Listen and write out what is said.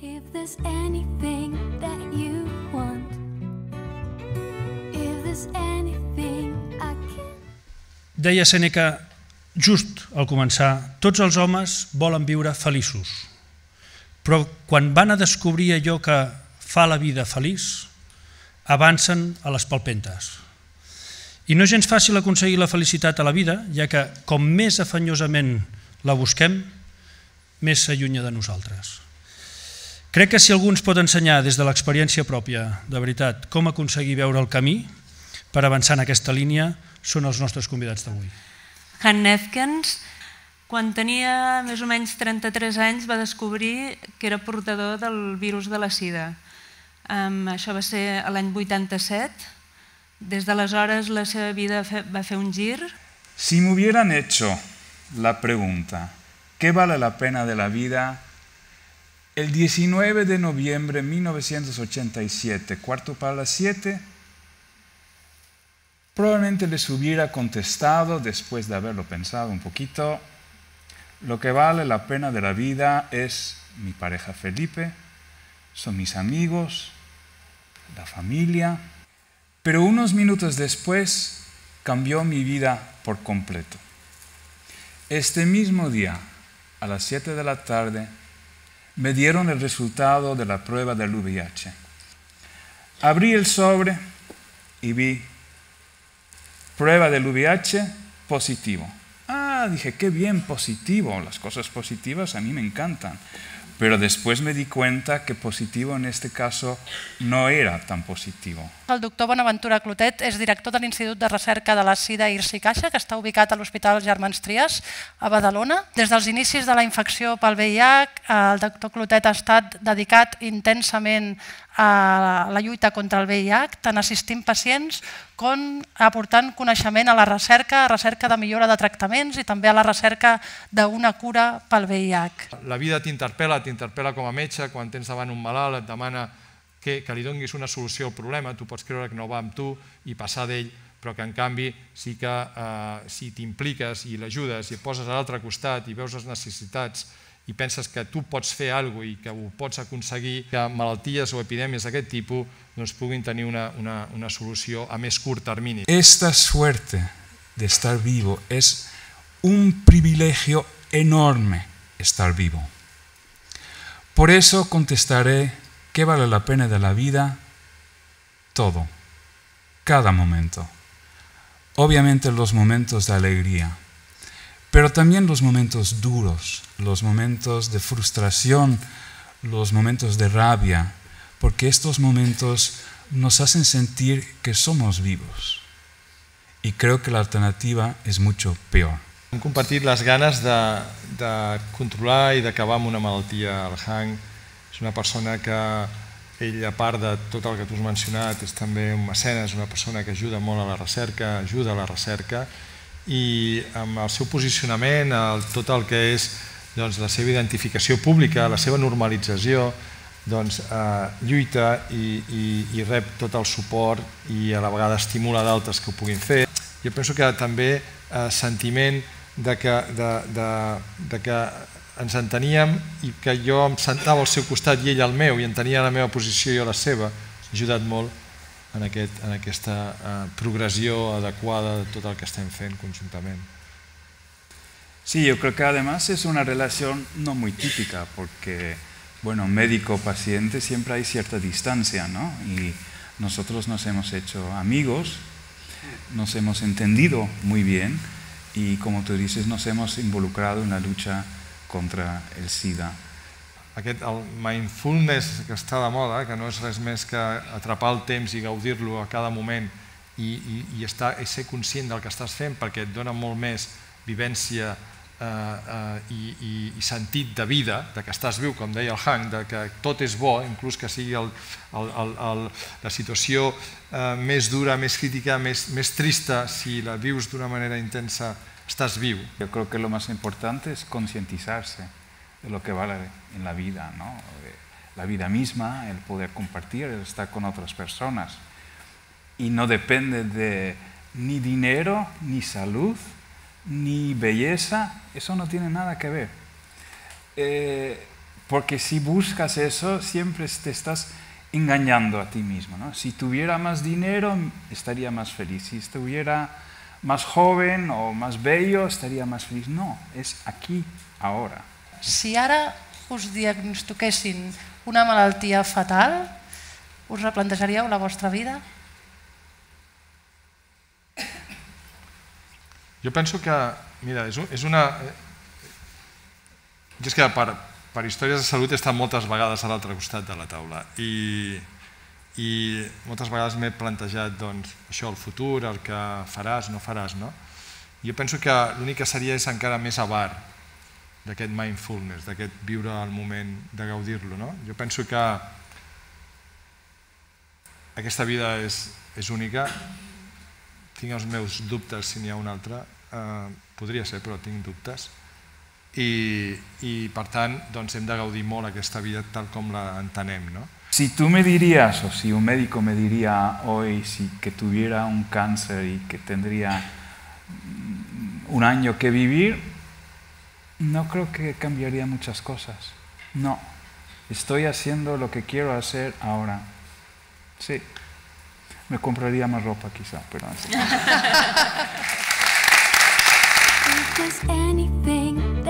If there's anything that you want, if there's anything I can... Deia Sèneca just al començar, tots els homes volen viure feliços, però quan van a descobrir allò que fa la vida feliç, avancen a les palpentes. I no és gens fàcil aconseguir la felicitat a la vida, ja que com més afanyosament la busquem, més s'allunya de nosaltres. Crec que si algú ens pot ensenyar des de l'experiència pròpia, de veritat, com aconseguir veure el camí per avançar en aquesta línia, són els nostres convidats d'avui. Han Nefkens, quan tenia més o menys 33 anys, va descobrir que era portador del virus de la sida. Això va ser l'any 87. Des d'aleshores la seva vida va fer un gir. Si me hubieran hecho la pregunta, ¿qué vale la pena de la vida? El 19 de noviembre de 1987, 6:45, probablemente les hubiera contestado, después de haberlo pensado un poquito, lo que vale la pena de la vida es mi pareja Felipe, son mis amigos, la familia. Pero unos minutos después cambió mi vida por completo. Este mismo día, a las 7 de la tarde, me dieron el resultado de la prueba del VIH. Abrí el sobre y vi prueba del VIH positivo. Dije, qué bien, positivo. Las cosas positivas a mí me encantan. Però després me di cuenta que positivo en este caso no era tan positivo. El doctor Bonaventura Clotet és director de l'Institut de Recerca de la Sida IRSI Caixa, que està ubicat a l'Hospital Germans Trias, a Badalona. Des dels inicis de la infecció pel VIH, el doctor Clotet ha estat dedicat intensament a la lluita contra el VIH, tant assistint pacients com aportant coneixement a la recerca de millora de tractaments i també a la recerca d'una cura pel VIH. La vida t'interpel·la com a metge, quan tens davant un malalt et demana que li donis una solució al problema, tu pots creure que no va amb tu i passar d'ell, però que en canvi sí que si t'impliques i l'ajudes i et poses a l'altre costat i veus les necessitats i penses que tu pots fer alguna cosa i que ho pots aconseguir, que malalties o epidèmies d'aquest tipus puguin tenir una solució a més curt termini. Esta suerte de estar vivo es un privilegio enorme estar vivo. Por eso contestaré qué vale la pena de la vida, todo, cada momento. Obviamente los momentos de alegría, pero también los momentos duros, los momentos de frustración, los momentos de rabia, porque estos momentos nos hacen sentir que somos vivos. Y creo que la alternativa es mucho peor. Hem compartit les ganes de controlar i d'acabar amb una malaltia. El Hank és una persona que, ell, a part de tot el que tu has mencionat, és també un mecenes, una persona que ajuda molt a la recerca, ajuda a la recerca, i amb el seu posicionament, tot el que és la seva identificació pública, la seva normalització, lluita i rep tot el suport i a la vegada estimula d'altres que ho puguin fer. Jo penso que també sentiment de que ens enteníem i que jo em sentava al seu costat i ell al meu i entenia la meva posició i jo la seva, ha ajudat molt en aquesta progressió adequada de tot el que estem fent conjuntament. Sí, yo creo que además es una relación no muy típica porque, bueno, médico-paciente siempre hay cierta distancia, ¿no? Y nosotros nos hemos hecho amigos, nos hemos entendido muy bien y, como tú dices, nos hemos involucrado en la lucha contra el SIDA. El mindfulness que està de moda, que no és res més que atrapar el temps i gaudir-lo a cada moment i ser conscient del que estàs fent perquè et dona molt més vivència i sentit de vida, de que estàs viu, com deia el Hank, de que tot és bo, inclús que sigui la situació més dura, més crítica, més trista, si la vius d'una manera intensa, estàs viu. Yo creo que lo más importante es concientizarse de lo que vale en la vida, ¿no? La vida misma, el poder compartir, el estar con otras personas. Y no depende de ni dinero, ni salud, ni belleza, eso no tiene nada que ver. Porque si buscas eso, siempre te estás engañando a ti mismo, ¿no? Si tuviera más dinero, estaría más feliz. Si estuviera más joven o más bello, estaría más feliz. No, es aquí, ahora. Si ara us diagnostiquessin una malaltia fatal, us replantejaríeu la vostra vida? Jo penso que, mira, és una... Jo és que per històries de salut he estat moltes vegades a l'altre costat de la taula i moltes vegades m'he plantejat això, el futur, el que faràs, no faràs, no? Jo penso que l'únic que seria és encara més avar d'aquest mindfulness, d'aquest viure el moment, de gaudir-lo, no? Jo penso que aquesta vida és única, tinc els meus dubtes si n'hi ha una altra, podria ser, però tinc dubtes, i per tant hem de gaudir molt aquesta vida tal com la entenem, no? Si tú me dirías, o si un médico me diría hoy que tuviera un cáncer y que tendría un año que vivir, no creo que cambiaría muchas cosas. No, estoy haciendo lo que quiero hacer ahora. Sí, me compraría más ropa quizá, pero así. If there's anything